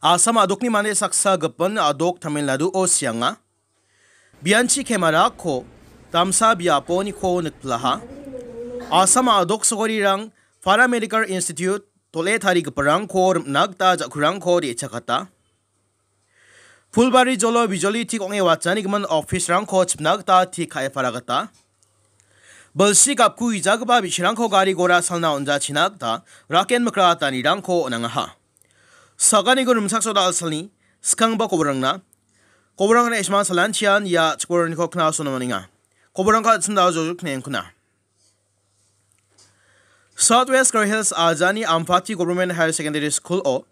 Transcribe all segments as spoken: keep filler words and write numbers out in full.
Assam a·dokni mande saksa gipin a·dok Tamil Naduo sianga. Bianchi kemarako damsa biaponiko nikpilaha. Assam a·dok sagorirang Paramedical Institute dole tarigiparangko rimna gita ja·kurangko de·chakata. Fulbari jolo bijoli tik ong·e watjanigimin office-rangko chipna gita tik ka·e paragata. Bilsi gapku ijagipa bi·sarangko gari gora salna on·jachina gita raken mikra atanirangko on·angaha. Saganiko rimchaksoda salni skangba koborangna. Koborangna isma salanchian ia chikoraniko knasona maninga. Koborangko atsinda jojok knengkuna. South West Garo Hills ajani Ampati Government Higher Secondary School-o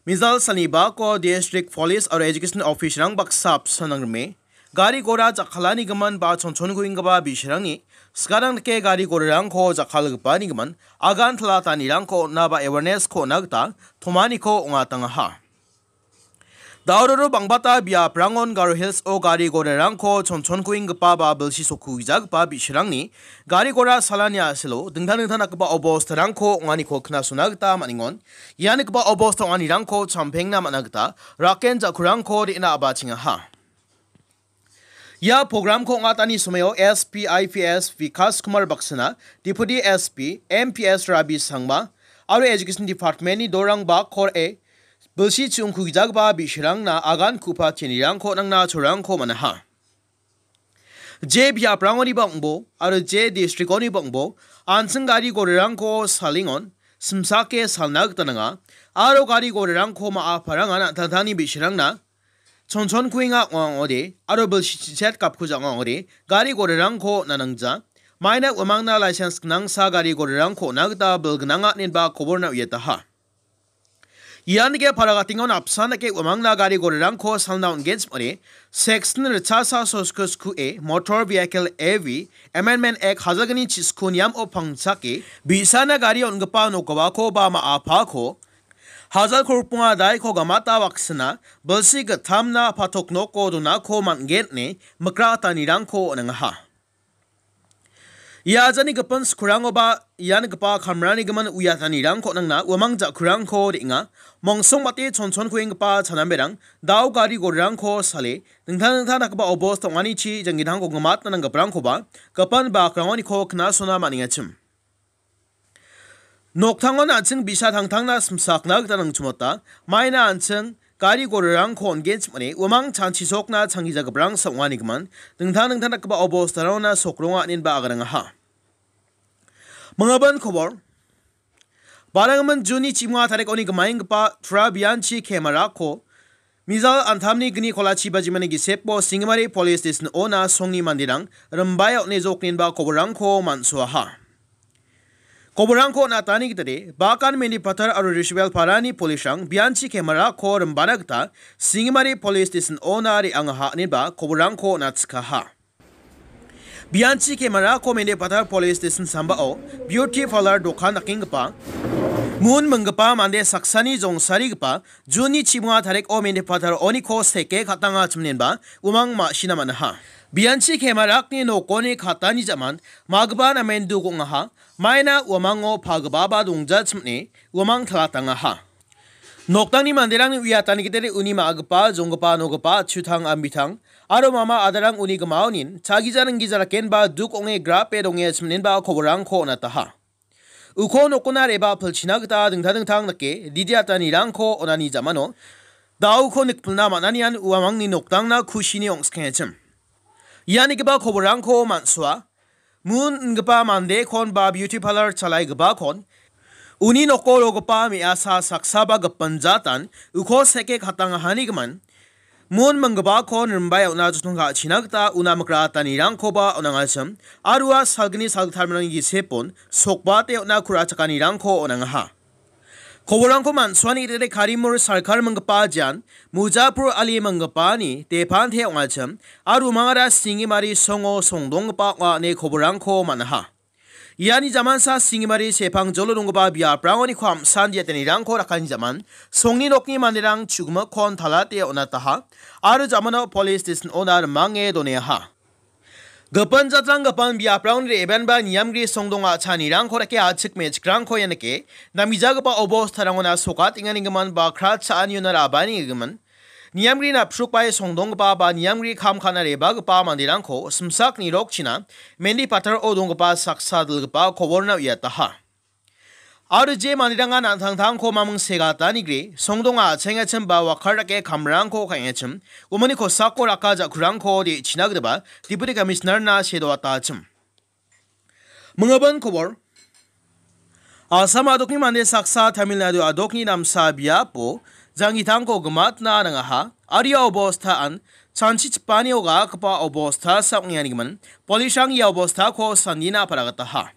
mizal sanibako District Police aro Education Office-rang baksa apsan nangrime. Gari gora jakkalanigimin ba chonchonkuenggipa bi·sarangni skarang dake gari gorarangko jakkalgipanigimin agan talatanirangko on·a ba awareness-ko on·a gita tomaniko ong·atangaha. Daororo bangbata biaprangon Garo Hills-o gari gorarangko chonchonkuenggipa ba bilsi sokkuijagipa bi·sarangni gari gora salani a·selo dingtang dingtang dakgipa obostarangko ong·aniko knasona gita man·engon. Ia nikgipa obosta ong·anirangko champengna man·a gita raken ja·kurangko re·na a·bachengaha. Ia programko ong·atani somoio S P I P S Vikas Kumar Baksana, Deputy S P, M P S Rabi Sangma, aro Education Department-ni dorangba kor·e bilsi chiongkugijagipa bi·sarangna agan ku·pa chenirangko nangna chorangko man·aha. Je biaprangoniba ong·bo aro je district-oniba ong·bo an·ching gari gorarangko salengon simsake salna gita nanga aro gari gorarangko ma·a parangan an·tangtangni bi·sarangna chonchonkuenga ong·a ong·ode aro bilsi chichet gapkuja ong·a ong·ode gari gorarangko on·a nangja. Maina uamangna license gnangsa gari gorarangko on·a gita bil gnanga inenba koborna uiataha. Ian ge paragatengon apsan dake uamangna gari gorarangko salna on·gen chim·ode, Section ritchasa soskos ku·e Motor Vehicle A V Amendment Act hajalgni chisku niamo pangchake bi·sana gari on·gipa nokgipako ba ma·apako hajal kolgrikonga daiko gamata baksana bilsi gittamna patok noko donako man·gen ine mikratanirangko on·engaha. Ia ajani gipin skurangoba ian gipa kamrani gimin uiatanirangko nangna uamang ja·kurangko re·enga. Mongsong bate chonchonkuenggipa chanamberang dao gari gorirangko sale dingtang dingtang dakgipa obosta ong·anichi janggitangko gimatna nanggiparangkoba gipin bakrangoniko knasona man·engachim. Noktangon an·ching bi·sa tangtangna simsakna gita nangchimota. Maina an·ching gari gorarangko on·gen chim·ode uamang chanchisokna changgijagiparangsa ong·anigimin dingtang dingtang dakgipa obostarangona sokronga inenba agarangaha. Mangaban kobor. Baranggimin Juni chimonga tarikoni gimaenggipa Tura bianchi kemarako mizal antamni gni kolachi bajimani gisepo Singimari Police Station-ona songni manderang rimbae on·e joknenba koborangko man·soaha. Koborangko on·atani gitade, Bakan Mendipathar aro Rishiwel Parani polisrang bianchi kemarako rimbana gita Singimari Police Station-ona re·angaha inenba koborangko on·atchikaha. Bianchi kemarako Mendipathar Police Station sambao beauty parlour dokan dakenggipa, mun minggipa mande saksani jongsarigipa Juni chimonga tariko Mendipathar oniko seke katanga chimnenba uamang ma·sina man·aha. Bianchi kemarakni nokoni katani jaman magipa namen duk ong·aha. Maina uamango pagipaba dongja chim·e uamang talatangaha. Noktangni manderangni uiatani gitade uni ma·gipa, jonggipa, nogipa, chutang, ambitang, aro mama adarang uni gimaonin chagija ninggija rakenba duk ong·e grape donge chim·enba koborangko on·ataha. Uko nokona reba pilchina gita dingtang dingtang dake didiatanirangko onani jamano dauko nikpilna man·anian uamangni noktangna kusini ong·skengachim. Ianigipa koborangko man·soa. Mun ingipa mandekon ba beauty parlour chalaigipakon uni noko rogipa me·asa saksaba gipin jatan uko seke katangahanigimin mun minggipakon rimbae on·a jotong ka·china gita una mikratanirangkoba on·angachim aro ua salgni salgittamrangni gisepon sokbate on·a ku·rachakanirangko on·angaha. Koborangko man·suani gitade Karimur Sarkar minggipa jean, Mujapur Ali minggipani depante ong·achim, aro umangara Singimari songo songdonggipa ong·a ine koborangko man·aha. Iani jamansa Singimari sepang jolo donggipa biaprangoniko am·san diatanirangko rakani jaman, songni nokni manderang chu·gimikkon talate on·ataha, aro jamano police station-ona rimange doneaha. Gipin jatrang gipin biaprangni re·baenba niamgri songdong a·chanirangko dake a·chik me·chikrangko ia nike, namgijagipa obostarangon sokatenganigimin ba kra cha·aniona ra·baanigimin. Niamgri napsrukbae songdonggipa ba niamgri kam ka·na re·bagipa manderangko simsak nirokchina mendi pataro donggipa saksa dilgipa koborna uiataha. Aro je manderangan an·tangtangko maming segatanigre, songdonga a·chengachim ba wakar dake kamrangko ka·engachim, umani kosako raka ja·kurangko de·china gitaba Deputy Commissioner-na sedoatachim. Mingabin kobor. Assam adokni mande saksa Tamil Nadu adokni damsa biapo jangitangko gimatna nangaha, aro ia obostaan chanchichipanio ga·akgipa obosta sa ong·enganigimin, polisrang ia obostako sandina paragataha.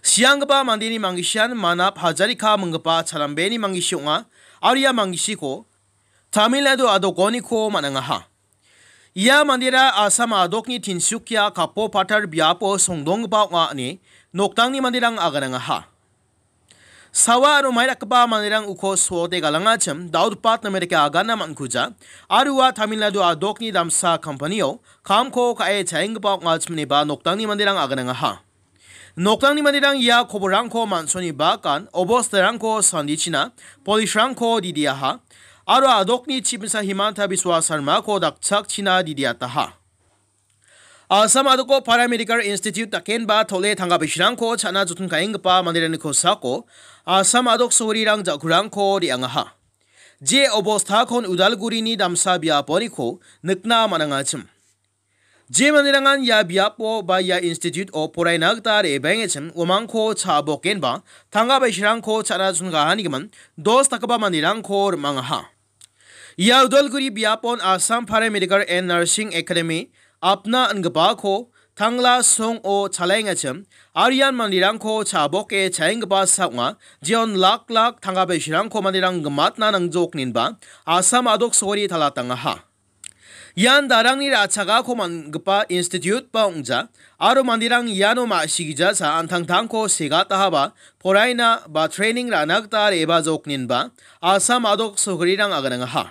Sianggipa mandeni manggisan Manap Hazarika minggipa Charambeni manggisi ong·a, aro ia manggisiko Tamil Nadu adokoniko man·angaha. Ia mandera Assam adokni Tinsukia kapo patar biapo songdonggipa ong·a ine noktangni manderang aganangaha. Sawa aro mai dakgipa manderang uko soode galangachim daodpat namerika agana man·kuja, aro ua Tamil Nadu adokni damsa kampanio kamko ka·e chaenggipa ong·achim ineba noktangni manderang aganangaha. Noktangni manderang ia koborrangko man·soni bakan obostarangko sandichina polisrangko didiaha, aro adokni chibimsa Himanta Biswa Sarmako dakchakchina didiataha. Assam adoko Paramedical Institute dakenba tole tangka bisirangko cha·na joton ka·enggipa manderangni kosako Assam adok sogorirang ja·kurangko re·angaha. Je obostakon Udalgurini damsa biaponiko nikna man·angachim. Je manderangan ia biapo ba ia institute-o poraina gita re·baengachim uamangko cha·bokenba tangka bisirangko cha·na chongaanigimin dos dakgipa manderangko rim·angaha. Ia Udalguri biapon Assam Paramedical and Nursing Academy apna ingipako tangla song·o chalaengachim, aro ian manderangko cha·boke chaenggipa sa ong·a, jeon lak lak tangka bisirangko manderang gimatna nangjokninba Assam adok sogori talatangaha. Ian darangni ra·chakako man·gipa institute ba ong·ja, aro manderang iano ma·sigijasa an·tangtangko segatahaba poraina ba training ra·na gita re·bajokninba Assam adok sogorirang aganangaha.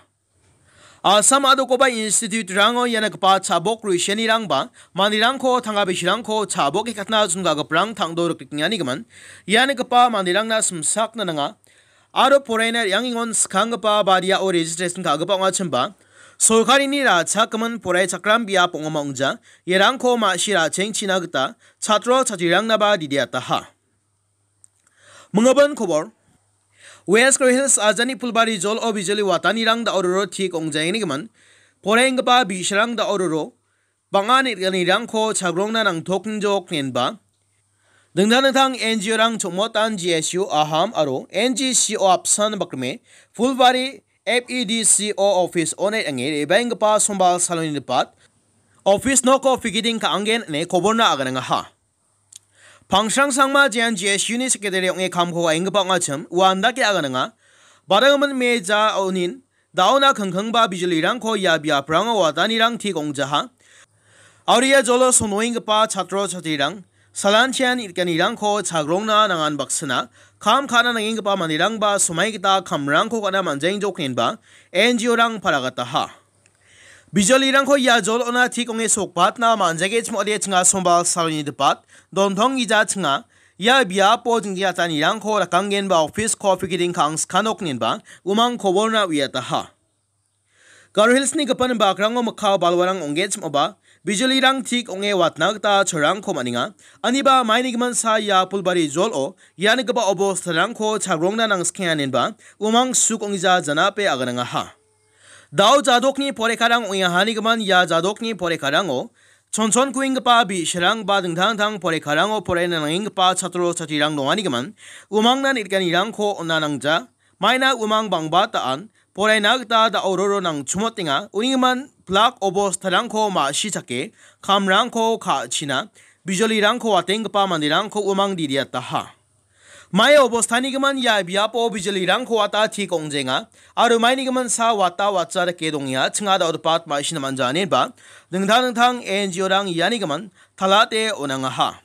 Assam adokoba institute-rango iana gipa chabok ruisenirangba manderangko tangka bisirangko chabok ikatna chongagiprang tangdo rikrikenganigimin iana gipa manderangna simsakna nanga. Aro poraina re·angengon skanggipa badiao registration ka·gipa ong·achimba, sorkarini ra·chakgimin poraichakram biap ong·oma ong·ja, iarangko ma·si ra·chengchina gita chatro chatrirangnaba didiataha. Mingabin kobor. West Garo Hills ajani Phulbari jol·o bijoli watanirang da·ororo tik ong·jaengnigimin, poraienggipa bi·sarang da·ororo bang·a neng·anirangko chagrongna nangtoknjok nenba. Dingtang dingtang N G O-rang chongmotan G S U Aham aro N G C O Apsan bakrime Phulbari F E D C O office-o neng·e re·baenggipa sombal saloni nipat office noko pigiting ka·angen ine koborna aganangaha. Pangsrang Sangma jean G S U-ni sekretari ong·e kamko ka·enggipa ong·achim ua andake agananga. Badanggimin me ja onin da·ona kingkingba bijolirangko ia biaprango watanirang tik ong·jaha. Aro ia jolo sonoenggipa chatro chatrirang salanchian itganirangko chagrongna nangan baksana kam ka·na nangenggipa manderangba somai gita kamrangko ka·na man·jaengjoknenba N G O-rang paragataha. Bijolirangko ia jol·ona tik ong·e sokbatna man·jagechim ong·ode chinga sombal saloni dipat dontong gija chinga ia biapo jingjatanirangko rakanggenba office-ko pigiting ka·angskana oknenba umang koborna uiataha. Garo Hills-ni gipin bakrango mikka balwarang ong·genchim ong·ba bijolirang tik ong·e watna gita chorangko man·enga. Aniba maini gimin sa ia Phulbari jol·o ianigipa obostarangko chagrongna nangskenga inenba umang suk ong·gija janape aganangaha. Dao jadokni porekarang ong·engahanigimin ia jadokni porekarango chonchonkuenggipa bi·sarang ba dingtang dingtang porekarango poraina nangenggipa chatro chatrirang donganigimin umangna neng·anirangko on·a nangja. Maina umang bangba ta·an poraina gita da·ororo nangchumotenga. Unigimin plak obostarangko ma·sichake kamrangko ka·china bijolirangko watenggipa manderangko umang didiataha. Mai obostanigimin ia biapo bijolirangko wata tik ong·jenga aro mainigimin sa wata watsa dake dongenga chinga da·odepat ma·sina man·ja ineba dingtang dingtang N G O-rang ianigimin talate on·angaha.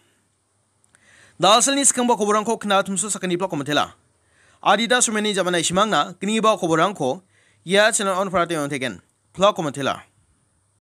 Dalsalni skangba koborangko kna tumsu sakani plak komitela. Adida sumeni jamana isimangna gniba koborangko ia channel on parate on tegen plak komitela.